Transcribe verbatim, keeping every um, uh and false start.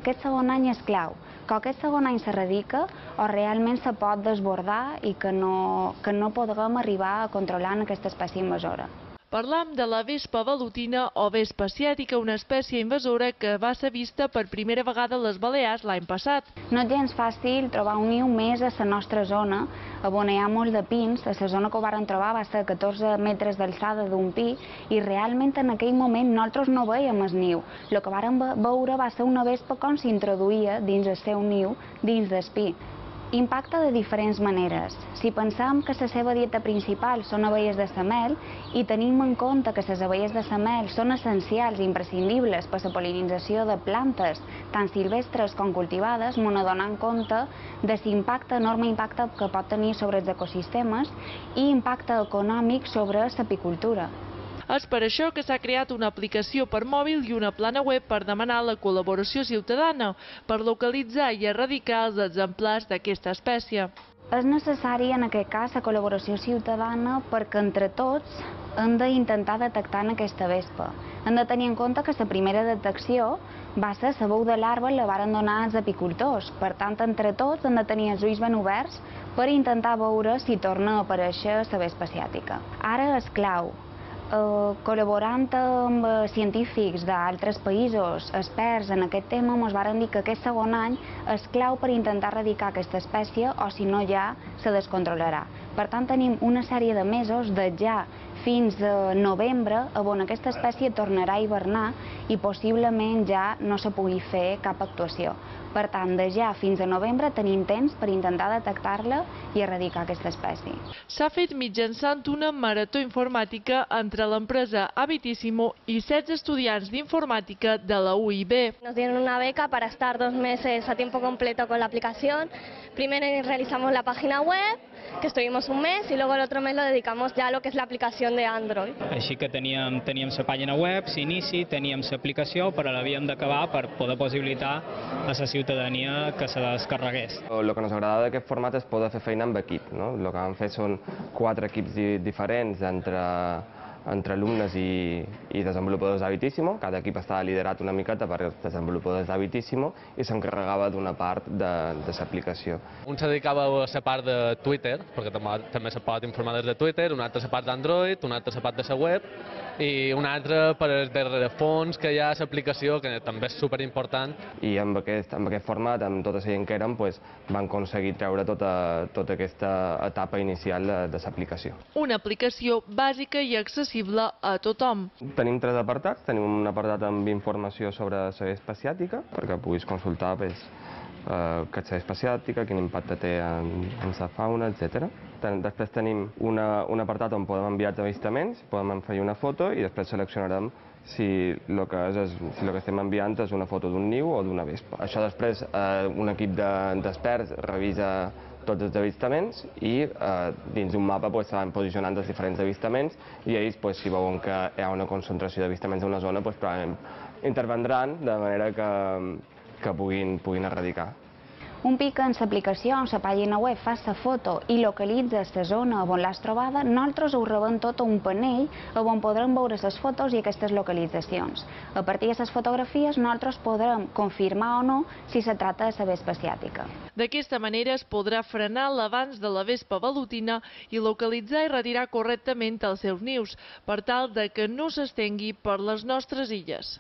aquest segon any és clau, que aquest segon any s'erradica o realment se pot desbordar i que no, que no podrem arribar a controlar aquesta espècie invasora. Parlam de la vespa velutina o vespa asiàtica, una espècie invasora que va ser vista per primera vegada a les Balears l'any passat. No és gens fàcil trobar un niu més a la nostra zona, on hi ha molt de pins. A la zona que ho varen trobar va ser catorze metres d'alçada d'un pi i realment en aquell moment nosaltres no veiem el niu. El que varen veure va ser una vespa com s'introduïa dins el seu niu, dins del pi. Impacta de diferents maneres. Si pensem que la seva dieta principal són abelles de la mel i tenim en compte que les abelles de la mel són essencials i imprescindibles per a la pol·linització de plantes, tant silvestres com cultivades, m'ho adonem en compte de l'impacte, enorme impacte que pot tenir sobre els ecosistemes i impacte econòmic sobre l'apicultura. És per això que s'ha creat una aplicació per mòbil i una plana web per demanar la col·laboració ciutadana per localitzar i erradicar els exemplars d'aquesta espècie. És necessari en aquest cas la col·laboració ciutadana perquè entre tots hem d'intentar detectar aquesta vespa. Hem de tenir en compte que la primera detecció va ser la veu de larva la varen donar als apicultors. Per tant, entre tots hem de tenir els ulls ben oberts per intentar veure si torna a aparèixer la vespa asiàtica. Ara és clau. Uh, col·laborant amb uh, científics d'altres països, experts en aquest tema, ens varen dir que aquest segon any és clau per intentar erradicar aquesta espècie o si no ja se descontrolarà. Per tant, tenim una sèrie de mesos de ja fins a novembre on aquesta espècie tornarà a hivernar i possiblement ja no se pugui fer cap actuació. Per tant, de ja fins a novembre tenim temps per intentar detectar-la i erradicar aquesta espècie. S'ha fet mitjançant una marató informàtica entre l'empresa Habitissimo i setze estudiants d'informàtica de la U I B. Nos dieron una beca para estar dos meses a tiempo completo con la aplicación. Primero realizamos la página web, que estuvimos un mes, y luego el otro mes lo dedicamos ya a lo que es la aplicación de Android. Així que teníem, teníem la pàgina web, s'inici, teníem l'aplicació, però l'havíem d'acabar per poder possibilitar a la ciutadania que se descarregués. El que ens agradava d'aquest format és poder fer feina amb equip. No? El que vam fer són quatre equips diferents entre entre alumnes i, i desenvolupadors d'Habitissimo. Cada equip estava liderat una miqueta per desenvolupadors d'Habitissimo i s'encarregava d'una part de, de l'aplicació. Un se dedicava a la part de Twitter, perquè també, també se pot informar des de Twitter, un altre a la part d'Android, un altre a la part de la web i un altre per el rerefons que hi ha a l'aplicació, que també és superimportant. I amb aquest, amb aquest format, amb tota la gent que érem, pues, van aconseguir treure tota, tota aquesta etapa inicial de, de l'aplicació. Una aplicació bàsica i accessible a tothom. Tenim tres apartats. Tenim un apartat amb informació sobre la vespa asiàtica, perquè puguis consultar pues, eh, què és la vespa asiàtica, quin impacte té en, en la fauna, etcètera. Després tenim una, un apartat on podem enviar avistaments, podem fer una foto i després seleccionarem si el que, és, si el que estem enviant és una foto d'un niu o d'una vespa. Això després eh, un equip d'experts de, revisa tots els avistaments i eh, dins d'un mapa pues, se van posicionant els diferents avistaments i ells, pues, si veuen que hi ha una concentració d'avistaments en una zona, pues, probablement intervendran de manera que, que puguin, puguin erradicar. Un pic en l'aplicació, en la pàgina web, fa la foto i localitza la zona on l'has trobada, nosaltres ho rebem tot a un panell on podrem veure les fotos i aquestes localitzacions. A partir de les fotografies nosaltres podrem confirmar o no si se tracta de la vespa asiàtica. D'aquesta manera es podrà frenar l'avanç de la vespa velutina i localitzar i retirar correctament els seus nius, per tal de que no s'estengui per les nostres illes.